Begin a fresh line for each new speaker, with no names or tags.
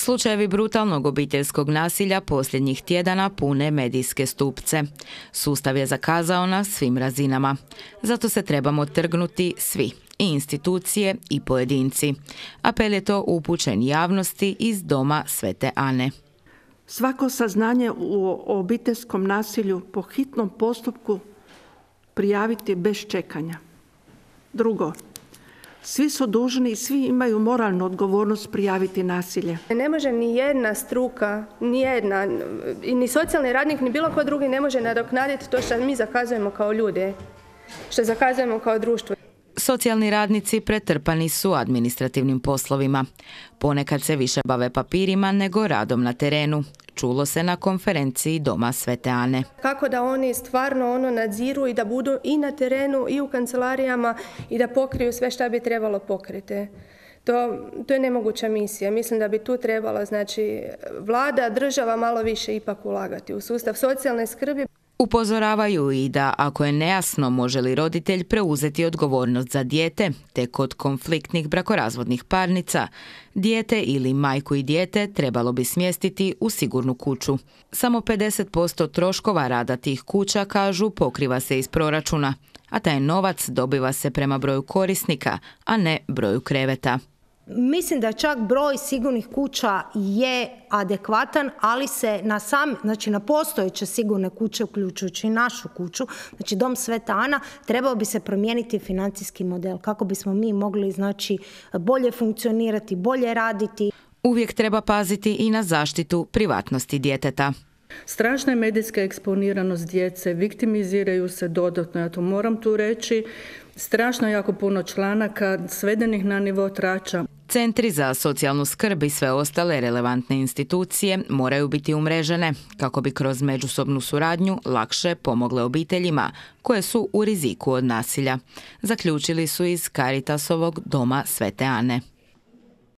Slučajevi brutalnog obiteljskog nasilja posljednjih tjedana pune medijske stupce. Sustav je zakazao na svim razinama. Zato se trebamo trgnuti svi, i institucije i pojedinci. Apel je to upućen javnosti iz Doma Svete Ane.
Svako saznanje o obiteljskom nasilju po hitnom postupku prijaviti bez čekanja. Drugo, svi su dužni i svi imaju moralnu odgovornost prijaviti nasilje.
Ne može ni jedna struka, ni socijalni radnik, ni bilo ko drugi ne može nadoknaditi to što mi zakazujemo kao ljude, što zakazujemo kao društvo.
Socijalni radnici pretrpani su administrativnim poslovima. Ponekad se više bave papirima nego radom na terenu. Čulo se na konferenciji Doma Svete Ane.
Kako da oni stvarno nadziru i da budu i na terenu i u kancelarijama i da pokriju sve što bi trebalo pokriti. To je nemoguća misija. Mislim da bi tu trebala, vlada, država malo više ipak ulagati u sustav socijalne skrbi.
Upozoravaju i da ako je nejasno može li roditelj preuzeti odgovornost za dijete, te kod konfliktnih brakorazvodnih parnica, dijete ili majku i dijete trebalo bi smjestiti u sigurnu kuću. Samo 50% troškova rada tih kuća, kažu, pokriva se iz proračuna, a taj novac dobiva se prema broju korisnika, a ne broju kreveta.
Mislim da čak broj sigurnih kuća je adekvatan, ali se na postojeće sigurne kuće, uključujući i našu kuću, Dom Sveta Ana, trebao bi se promijeniti financijski model kako bismo mi mogli bolje funkcionirati, bolje raditi.
Uvijek treba paziti i na zaštitu privatnosti djeteta.
Strašna je medijska eksponiranost djece, viktimiziraju se dodatno, ja to moram tu reći. Strašno jako puno članaka, svedenih na nivo trača.
Centri za socijalnu skrb i sve ostale relevantne institucije moraju biti umrežene kako bi kroz međusobnu suradnju lakše pomogle obiteljima koje su u riziku od nasilja. Zaključili su iz Caritasovog Doma Svete Ane.